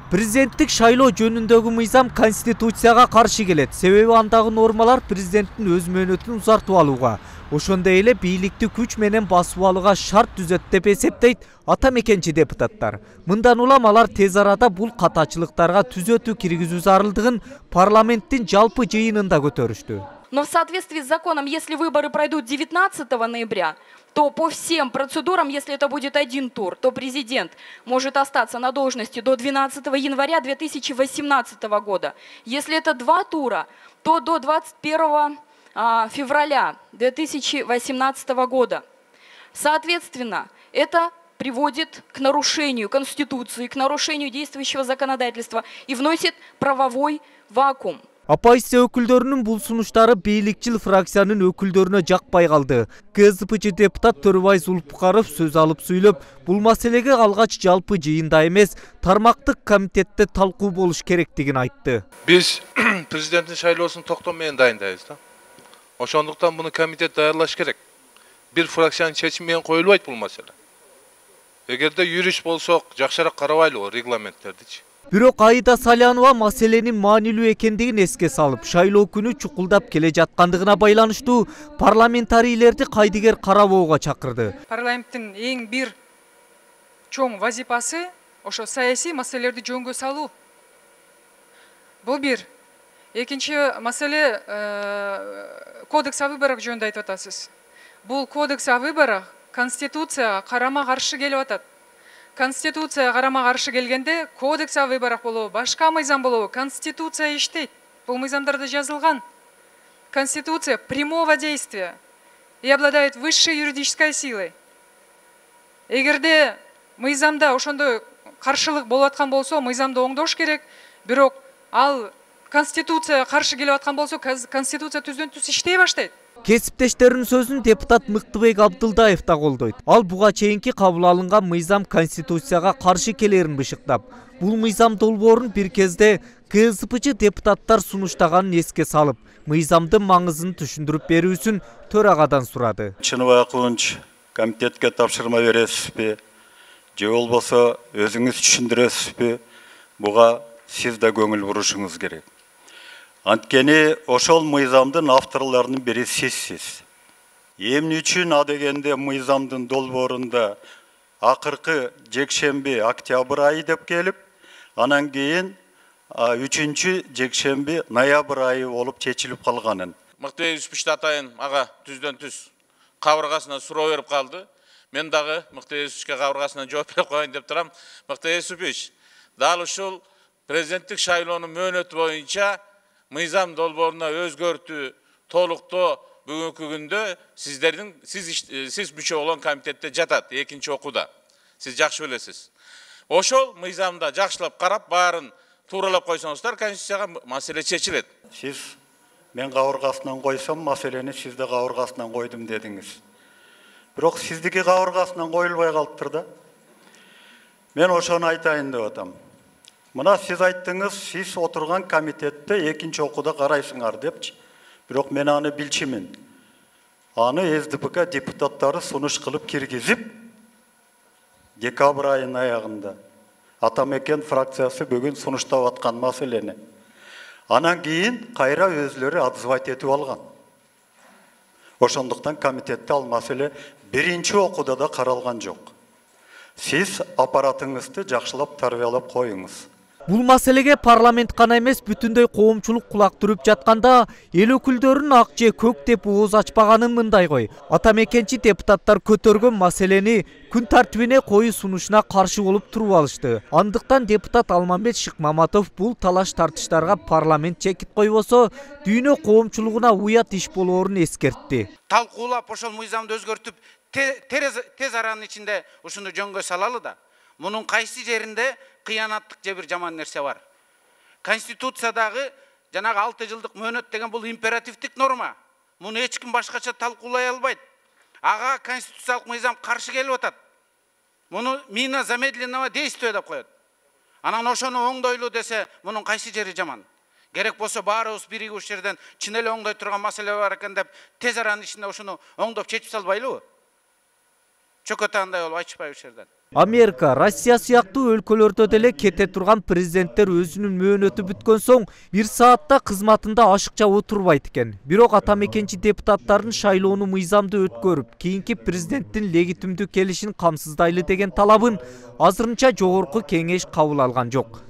Президенттик шайлоо жөнүндөгү мыйзам Конституцияга каршы келет. Себеби андагы нормалар президенттин өз мөөнөтүн узартып алууга, ошондой эле бийликти күч менен басып алууга шарт түзөт деп эсептейт ата мекенчи депутаттар. Мындан улам алар тез арада бул катачылыктарга түзөтүү киргизүү зарылдыгын парламенттин жалпы жыйынында көтөрүштү. Но в соответствии с законом, если выборы пройдут 19 ноября, то по всем процедурам, если это будет один тур, то президент может остаться на должности до 12 января 2018 года. Если это два тура, то до 21 февраля 2018 года. Соответственно, это приводит к нарушению Конституции, к нарушению действующего законодательства и вносит правовой вакуум. Оппозиция өкүлдөрүнүн бул сунуштары бийликчил фракциянын өкүлдөрүнө жакпай калды. КСДПчы депутат Төрөбай Зулпукаров сөз алып сүйлөп, бул маселеге алгач жалпы жыйында эмес, тармактык комитетте талкуу болуш керектигин айтты. Биз президенттин шайлоосун токтом менен дайындайбыз да. Ошондуктан буну комитет даярлаш керек. Бир фракциянын чечими менен коюлбайт бул маселе. Эгерде юрист болсок, жакшыраак карабайлыбы регламенттердичи. Бирок Аида Салянова маселенин маанилүү экендигин эске салып, шайлоо күнү чукулдап келе жаткандыгына байланыштуу парламентарийлерди кайдыгер карабоого чакырды. Парламенттин эң бир чоң вазипасы ошо саясий маселелерди жөнгө салуу. Бул бир. Экинчи маселе кодекс о выборах жөнүндө айтып атасыз. Бул кодекс о выборах Конституцияга карама-каршы келип атат. Конституция карама-каршы келгенде кодекс о выборах болобу, башка мыйзам болобу, Конституция иштейт. Бул мыйзамдарда жазылган. Конституция прямого действия и обладает высшей юридической силой. Эгерде мыйзамда ошондой каршылык болуп аткан болсо, мыйзамды оңдош керек. Бирок ал Конституция каршы келип аткан болсо, Конституция түздөн түз иштей баштайт. Кесиптештеринин сөзүн депутат Мыктыбек Абдылдаев да колдойт. Ал буга чейинки кабыл алынган мыйзам Конституцияга каршы келерин бышыктап, бул мыйзам долбоорун бир кезде КСДПчы депутаттар сунуштаганын эске салып, мыйзамдын маңызын түшүндүрүп берүүсүн төрагадан сурады. Чыныбай Акылович, комитетке тапшырма бересизби? Же болбосо өзүңүз түшүндүрөсүзбү? Буга сиз да көңүл бурушуңуз керек. Анткени ошол мыйзамдын авторлорунун бири сизсиз. Эмне үчүн а дегенде мыйзамдын долбоорунда акыркы жекшемби октябрь айы деп келип, анан кийин 3-чү жекшемби ноябрь айы болуп чечилип калганын. Мыктыбек Юсупович атайын ага түздөн түз кабыргасына суроо берип калды. Мен дагы Мыктыбек Юсуповичке кабыргасына жооп берип коеюн деп турам. Мыктыбек Юсупович, дал ушул президенттик шайлоонун мөөнөтү боюнча мыйзам долбооруна өзгөртүү, толуктоо бүгүнкү күндө сиз мүчө болгон комитетте жатат, экинчи окууда. Сиз жакшы билесиз. Ошол мыйзамда жакшылап карап, баарын тууралап койсоңуздар, Конституцияга маселе чечилет. Сиз мен кабыргасынан койсом, маселени сиз да кабыргасынан койдум дедиңиз. Бирок сиздики кабыргасынан коюлбай калыптыр да. Мен ошону айтайын деп атам. Мына сиз айттыңыз, сиз отурган комитетте экинчи окууда карайсыңар депчи. Бирок мен аны билчимин. Аны СДПК депутаттары сунуш кылып киргизип, декабрь айынын аягында ата мекен фракциясы бүгүн сунуштап аткан маселени. Анан кийин кайра өзлөрү отзывать этип алган. Ошондуктан комитетте ал маселе биринчи окууда да каралган жок. Сиз аппаратыңызды жакшылап тарбиялап коюңуз. Бул маселеге парламент гана эмес, бүтүндөй коомчулук кулак түрүп жатканда, эл өкүлдөрүнүн ак же көк деп ооз ачпаганын мындай кой. Ата мекенчи депутаттар көтөргөн маселени күн тартибине коюу сунушуна каршы болуп туруп алышты. Андыктан депутат Алмамбет Шыкмаматов бул талаш тартыштарга парламент чекит койбосо, дүйнө коомчулугуна уят иш болоорун эскертти. Талкуулап ошол мыйзамды өзгөртүп, тез аранын ичинде ушуну жөнгө салалы да. Мунун кайсы жеринде кыянаттык же бир жаман нерсе бар. Конституциядагы жанагы 6 жылдык мөөнөт деген бул императивдик норма. Муну эч ким башкача талкуулай албайт. Ага конституциялык мыйзам каршы келип атат. Муну мина замедленного действия деп коет. Анан ошону оңдойлу десе, мунун кайсы жери жаман? Керек болсо баарыбыз биригип ушул жерден чын эле оңдой турган маселе бар экен деп, тез аранын ичинде ошону оңдоп чечип салбайлыбы? Чөкөтандай болуп айтышпайбы ушул жерден? Америка, Россия сыяктуу өлкөлөрдө деле кете турган президенттер өзүнүн мөөнөтү бүткөн соң 1 саатта кызматында ашыкча отурбайт экен. Бирок ата мекенчи депутаттардын шайлоону мыйзамдуу өткөрүп, кийинки президенттин легитимдүү келишин камсыздайлы деген талабын азырынча жогорку кеңеш кабыл алган жок.